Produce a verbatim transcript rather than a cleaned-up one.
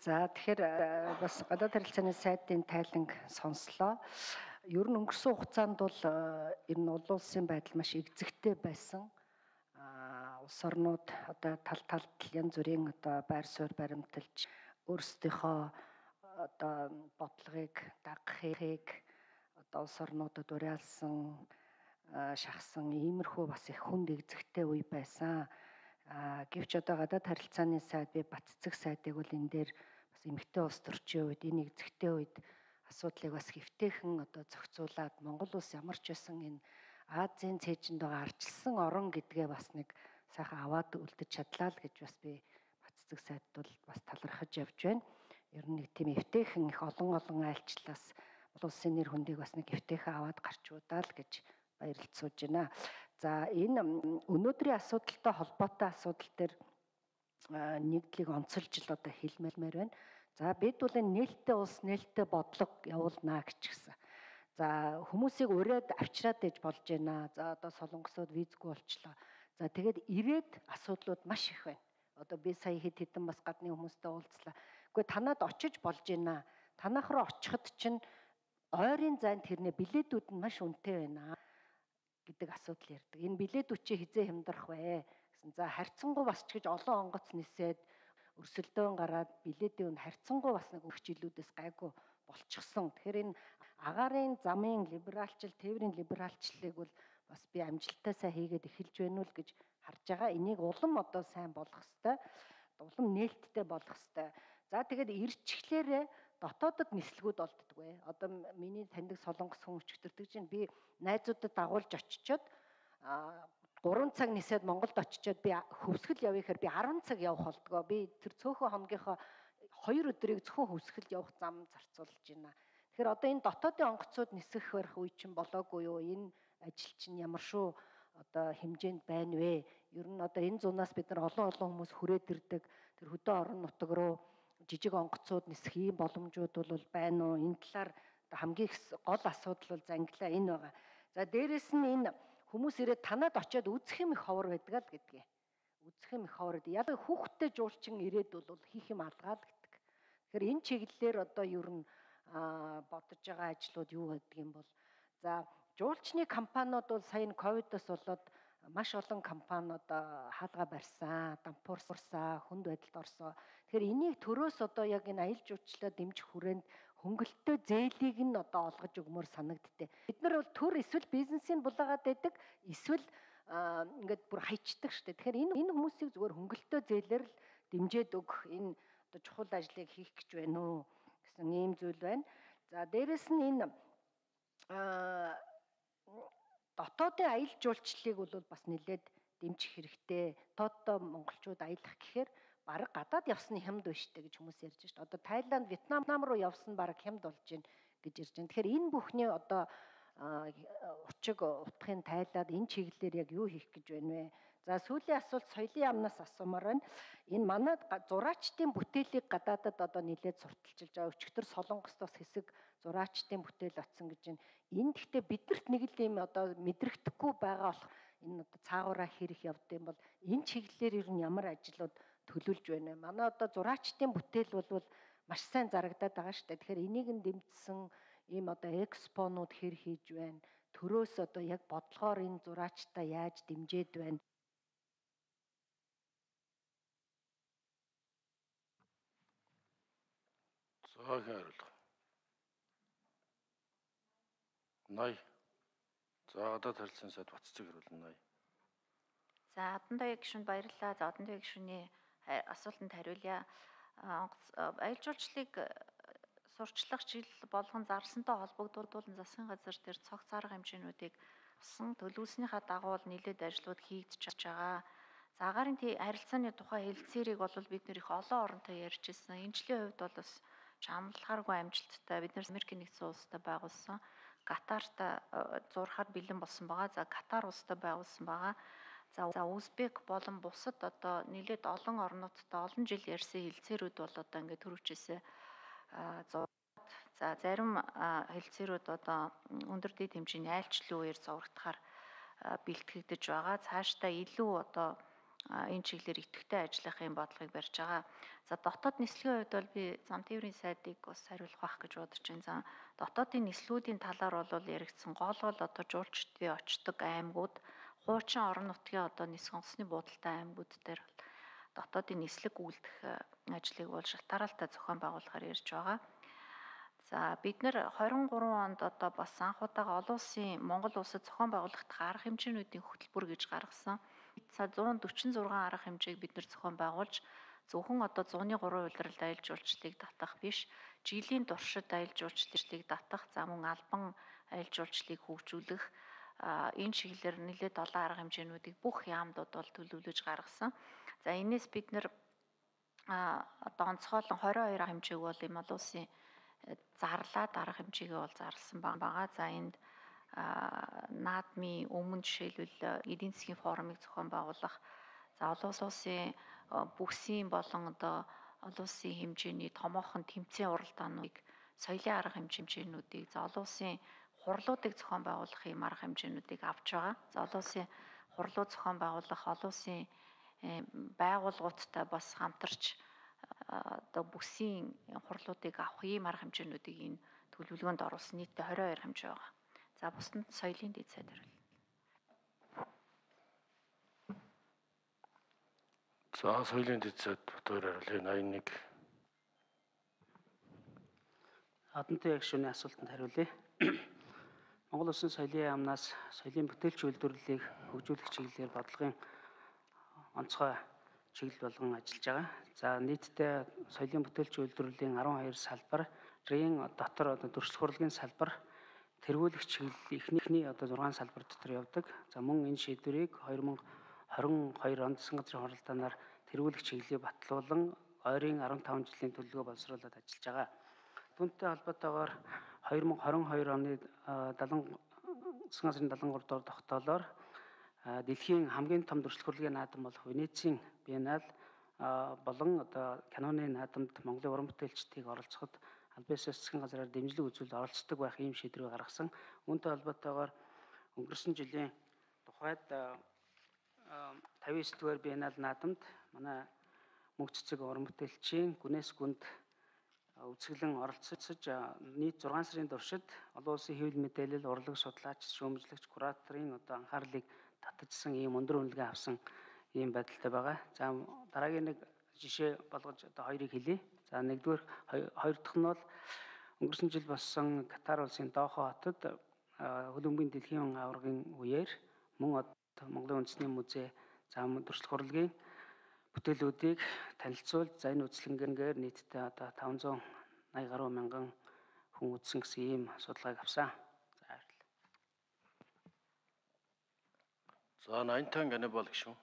За тэгэхээр бас гадаад харилцааны сайдын тайланг сонслоо. Ер нь өнгөрсөн хугацаанд бол ер нь улс улсын байдал маш эгзэгтэй байсан. Улс орнууд одоо тал талд янз бүрийн одоо байр суурь баримталж өөрсдийнхөө одоо бодлогыг дагахыг одоо улс орнуудад уриалсан шахсан иймэрхүү бас их хүнд эгзэгтэй үе байсан. А гэвч одоо гадаад харилцааны сайд би Батцэг сайдыг бол энэ дээр бас эмэгтэй улс төрчийн үед энэ эгзэгтэй үед асуудлыг бас хэвтэйхэн одоо зохицуулаад Монгол улс ямар ч байсан энэ Азийн цээжинд байгаа арчилсан орон гэдгээ бас нэг сайхан аваад үлдэж чадлаа л гэж бас би Батцэг сайдд бол бас талархаж явж байна. Ер нь нэг тийм эвтэйхэн их олон олон айлчлалаас Монгол улсын нэр хүндийг бас нэг эвтэйхэн аваад гарчуудаа л гэж баярлцуулж байна. За энэ өнөөдрийн асуудалтай холбоотой асуудал дээр нэгдлийг онцолж л одоо хэлмээр байна. За бид бол энэ нээлттэй улс нээлттэй бодлого явуулнаа гэж гисэн. За хүмүүсийг ураад авчираад ээж болж байна. За одоо солонгосууд визгүй болчлоо. За тэгээд ирээд асуудлууд маш их байна. Одоо би сая хэд хэдэн бас гадны хүмүүстэй уулзлаа. Гэхдээ танад очиж болж байна. Танах руу очиход чинь ойрын зайд тэрнээ билетүүд нь маш үнэтэй байна гэдэг асуудал ярьдаг. Энэ билетүүд чи хизээ хямдрах вэ гэсэн. За харьцангуй бас ч гэж олон онгоц нисээд өрсөлдөөн гараад билетийн үн харьцангуй бас нэг өгч илүүдээс гайгүй болчихсон. Тэгэхээр энэ агаарын замын либералчил, тээврийн либералчлалыг бол бас би амжилттай сайн хийгээд эхэлж байна уу гэж харж байгаа. Энийг улам одоо сайн болгох ёстой. Улам нээлттэй болгох ёстой. За тэгээд ирчглээрээ дотоодод нислэгүүд болддгүй. Одоо миний таньдаг солонгос хүн өчтөрдөг чинь би найзуудад дагуулж очичоод гурван цаг нисээд Монголд очичоод би хөвсгөл явъя гэхээр би арван цаг явах болдгоо. Би тэр цөөхөн хоногийнхоо хоёр өдрийг зөвхөн хөвсгөлд явах зам зарцуулж байна. Тэгэхээр одоо энэ дотоодын онгоцууд нисэх барих үе чинь болоогүй юу? Энэ ажил чинь ямар шүү одоо хэмжээнд байна вэ? Ер нь одоо энэ зунаас бид нар олон олон хүмүүс хүрээд ирдэг. Тэр хөдөө орон нутаг руу жижиг онгоцууд нисэх ийм боломжууд бол байна уу? Энэ талаар хамгийн гол асуудал бол зангилаа энэ байгаа. За дээрэс нь энэ хүмүүс ирээд танад очиод үзэх юм их ховор байдаг л гэдгээ. Үзэх юм их ховор. Яг хүүхдтэй жуулчин ирээд бол хийх юм алгаал гэдэг. Тэгэхээр энэ чиглэлээр одоо ер нь бодож байгаа ажлууд юу гэдэг юм бол за жуулчны компаниуд бол сая энэ ковидос болоод маш олон компани одоо хаалга барьсан, дампуурсан, хүнд байдалд орсон. Тэгэхээр энийг төрөөс одоо яг энэ аялал жуулчлалаа дэмжих хүрээнд хөнгөлөлтөө зээлийг нь одоо олгож өгмөр санагдтыг. Бид нар бол төр эсвэл бизнесийн булаагаад байдаг, эсвэл ингээд бүр хайчдаг штэ. Тэгэхээр энэ энэ хүмүүсийг зүгээр хөнгөлөлтөө зээлээр л дэмжиж өг энэ одоо чухал ажлыг хийх гэж байна уу гэсэн ийм зүйл байна. За дээрэс нь энэ дотоодын аялал жуулчлалыг бол бас нэлээд дэмжих хэрэгтэй. Дотооддоо монголчууд аялах гэхээр бараг гадаад явсны хямд байна штэ гэж хүмүүс ярьж штэ. Одоо Тайланд, Вьетнам руу явсан бараг хямд болж байна гэж ярьж байна. Тэгэхээр энэ бүхний одоо учиг утгын тайлаад энэ чиглэлээр яг юу хийх гэж байна вэ? За сүүлийн асуулт соёлын яамнаас асуумаар байна. Энэ манай зураачдын бүтээлийг гадаадад одоо нэлээд сурталчилж байгаа. Өчигдөр Солонгост бас хэсэг зураачдын бүтээл очсон гэж байна. Энэ гэхдээ бидэрт нэг л юм одоо мэдрэгдэхгүй байгаа болох энэ одоо цаагаараа хэрэг явд юм бол энэ чиглэлээр ер нь ямар ажлууд төлөвлөж байна вэ? Манай одоо зураачдын бүтээл бол маш сайн зарагдаад байгаа шүү дээ. Тэгэхээр энийг нь дэмжсэн ийм одоо экспонууд хэр хийж байна? Төрөөс одоо яг бодлогоор энэ зураачтай яаж дэмжиж байна? Зоог хариулах. Ной. За гадаад харилцааны сайд Батцэг хариулна ной. За Адантуяа гишүүнд баярлалаа. За Адантуяа гишүүний асуултанд хариулъя. Аялал жуулчлалыг сурчлах жил болгон зарласантай холбогдуулан засгийн газар дээр цогц арга хэмжээнүүдийг авсан төлөвлөснийхаа дагуу нэлээд ажлууд хийгдэж байгаа. За агаарын харилцааны тухай хэлэлцээрийг бол бид нэр их олон оронтой ярьж ирсэн. Энэ жилийн хувьд бол бас чамлахааргүй амжилттай бид нэр Америкийн нэгдсэн улстай байгуулсан. Катартай зурхаар бэлэн болсон байгаа. За Катар улстай байгуулсан байгаа. За Узбек болон бусад одоо нэлээд олон орнуудтай олон жил ярьсан хэлэлцээрүүд бол одоо ингээд төрөвчээсээ за зарим хэлэлцээрүүд одоо өндөр дэд хэмжээний айлчлалын үеэр зурагдахаар бэлтгэгдэж байгаа. Цаашдаа илүү одоо энэ чиглэлээр идэвхтэй ажиллахын бодлогыг барьж байгаа. За дотоод нислэгийн хувьд бол би зам тээврийн сайдыг бас хариулах байх гэж бодож байна. За дотоодын нислэгүүдийн талаар бол яригдсан гол гол одоо жуулчдын очдог аймагуд, хуучин орон нутгийн одоо нисэх онгоцны буудалтай аймагуд дээр дотоодын нислэг үйлдэх ажлыг бол шалтгаалалтаа зохион байгуулахаар ярьж байгаа. За бид нэр хорин гурван онд одоо бас анхудаага олон улсын Монгол улсад зохион байгуулагдах арга хэмжээнүүдийн хөтөлбөр гэж гаргасан. За зуун дөрвөн зургаан арга хэмжээг бид нэр зохион байгуулж зөвхөн одоо зууны гурван улиралд аялал жуулчлалыг татах биш, жилийн туршид аялал жуулчлалыг татах, за мөн албан аялал жуулчлалыг хөгжүүлэх энэ чиглэлээр нэлээд олон арга хэмжээнүүдийг бүх яамдууд бол төлөвлөж гаргасан. За энэс бид нэр одоо онцгойлон двадцать two арга хэмжээг бол юм олон улсын зарлаад арга хэмжээгээ бол зарласан байгаа. За энд наадмын өмнө жишээлбэл эдийн засгийн форумыг зохион байгуулах, за олон улсын бүсийн болон одоо олон улсын хэмжээний томоохон тэмцээн уралдаануудыг, соёлын арга хэмжээнүүдийг, за олон улсын хурлуудыг зохион байгуулах юм арга хэмжээнүүдийг авч байгаа. За олон улсын хурлууд зохион байгуулах, олон улсын байгууллагуудтай бас хамтарч одоо бүсийн хурлуудыг авах ийм арга хэмжээнүүдийг энэ төлөвлөгөөнд оруулсан. Нийтдээ двадцать two арга хэмжээ байгаа. За бусдад соёлын дэд сайд хариулна. За соёлын дэд сайд Батбаяр хариулъя. eighty-one. Хатантай яг шөнийн асуултанд хариулъя. Монгол Улсын соёлын яамнаас соёлын бүтээлч үйлдвэрлэлийг хөгжүүлэх чиглэлээр бодлогын онцгой чиглэл болгон ажиллаж байгаа. За нийтдээ соёлын бүтээлч үйлдвэрлэлийн twelve салбарын дотор одоо дөрвөлт хурлын салбар, тэргүүлэх чиглэл ихний одоо six салбар дотор явдаг. За мөн энэ шийдвэрийг twenty twenty-two онд засгийн газрын хуралдаанаар тэргүүлэх чиглэлийг батлуулан ойрын fifteen жилийн төлөвлөгөө боловсруулад ажиллаж байгаа. Түүнтэй холбоотойгоор twenty twenty-two оны засгийн газрын seventy-three дугаар тогтоолоор дэлхийн хамгийн том дөрвөлт хурлын наадам болох Венецийн биенал болон одоо киноны наадамд Монголын уран бүтээлчдийг оролцоход аль биесээр засгийн газраар дэмжлэг үзүүлэлт оролцдог байх ийм шийдвэрийг гаргасан. Үүнтэй холбоотойгоор өнгөрсөн жилийн тухайд fifty-nine дугаар биенал наадамд манай мөнх цэцэг уран бүтээлчийн гүнээс гүнд үзэсгэлэн оролцож нийт six сарын туршид олон улсын хэвлэл мэдээлэл, урлаг судлаач, шүүмжлэгч, кураторын одоо анхаарлыг татажсан ийм өндөр үнэлгээ авсан ийм байдалтай байгаа. За дараагийн нэг жишээ болгож одоо хоёрыг хэлье. За нэгдүгээр хоёр дахь нь бол өнгөрсөн жил болсон Катар улсын Дохо хотод хөлбөмбөгийн дэлхийн аваргын үеэр мөн Монголын үндэсний музей за дөрвөлт хурлын бүтээлүүдийг танилцуулж, за энэ үзлэнгээр нийтдээ одоо five hundred eighty гаруй мянган хүн үзсэн гэсэн ийм судалгааг авсан. За баярлалаа. За ninety ганы бол гişүн.